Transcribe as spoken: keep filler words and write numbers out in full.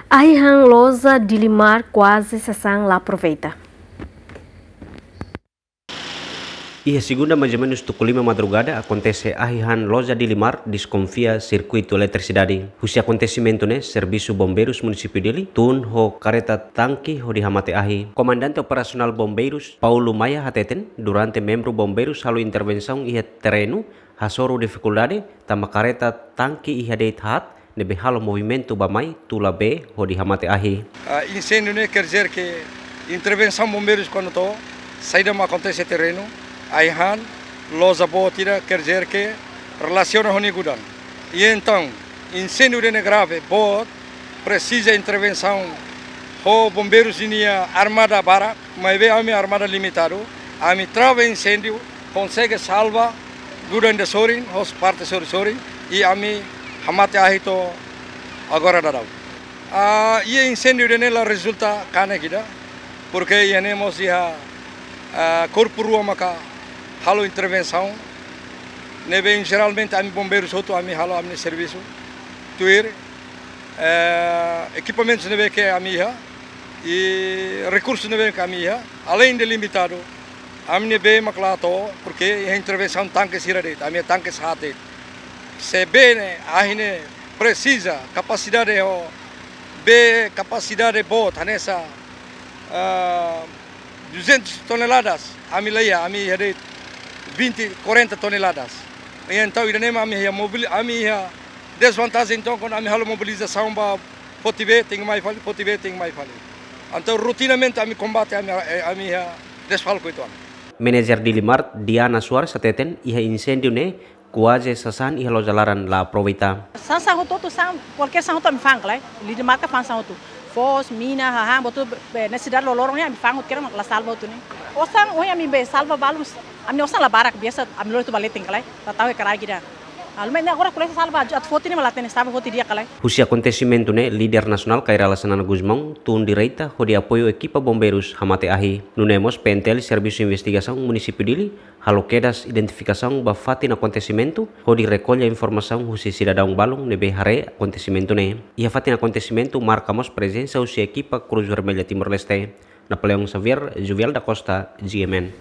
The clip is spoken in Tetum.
Ahi han loja Dilimar kuaze sasán la aproveita. Iha segunda, mais ou menus tuku lima madrugada, akontese ahi han loja Dilimar deskonfia sirkuitu eletrisidade. Husi akontesimentu ne'e, servisu bombeirus munisípiu Dili tun ho kareta tanke hodi hamate ahi. Komandante Operasionál Bombeirus, Paulo Maia, hateten, durante membru bombeirus halo intervensaun iha terrenu, hasoru difikuldade, tanba kareta tanke iha de'it haat, ne'ebé halo movimentu bá-mai tula bee hodi hamate ahi. Ah, inséndiu ne'e quer dizer que intervensaun bombeirus kuandu to'o, saida mak akontese terrenu, ahi han, loja boot ida, quer dizer que relasiona ho nia gudan. I entaun, inséndiu ida-ne'e grave, boot, presiza intervensaun ho bombeirus ninia armada barak, maibé ami armada limitadu, ami trava inséndiu, konsege salva gudan ida sorin, ho parte sorin-sorin, i ami hamate ahi to'o agora daudaun. Ah, iha inséndiu ida-ne'e la rezulta kanek ida, porque iha ne'e mós iha, ah, korpu rua maka halo intervensaun, ne'ebé jeralmente ami bombeirus hotu ami halo ami-nia servisu. Tuir, eh, ekipamentus ne'ebé ke ami iha, i rekursu ne'ebé ke ami iha, além de limitadu, ami-nia bee mak la to'o, porque iha intervensaun tanke sira de'it, ami-nia tanke haat de'it. Se bee ne'e, ahi ne'e presiza kapasidade ho, bee kapasidade boot, hanesan, ah, duzentas toneladas, ami la iha, ami iha de'it vinte, quarenta toneladas. I entaun, ida-ne'e mak ami iha mobili-, ami iha dezvantajen, entaun, kuandu ami halo mobilizasaun bá foti bee, tenke mai fali, foti bee, tenke mai fali. Entaun, rotinamente ami kombate, ami, eh, ami iha desfalku uitoan. Manajer Dilimar, Diana Soares, hateten, iha inséndiu ne'e, kuaze sasán iha loja laran la aproveita. Sasán hotu-hotu, sasán, kualkér sasán hotu ami fa'an ka lae. Dilimar ka fa'an sasán hotu. Foos, mina, hahán, buat hotu, be, nesesidade loroloron ne'e ami fa'an hotu, kera la salva hotu ne'e. Osan, ohin ami bá salva balun, ami osan la barak, biasa ami lori hotu ba leten ka lae. La tau iha kraik ida. Almen ne'e agora ko'alia salva, atu foti ne'e mak la hatene, salva foti di'ak ka lae. Husi akontesimentu ne'e, líder nasionál Kay Rala Xanana Gusmão tun direta hodi apoiu ekipa bombeirus hamate ahi. Nune'e mós P N T L, Servisu Investigasaun Munisípiu Dili, halo kedas identifikasaun ba fatin akontesimentu, hodi rekolla informasaun husi sidadaun balun ne'ebé haree akontesimentu ne'e. Iha fatin akontesimentu marka mós prezensa husi ekipa Cruz Vermelha Timor-Leste. Napoleão Xavier, Juvial da Costa, G M N.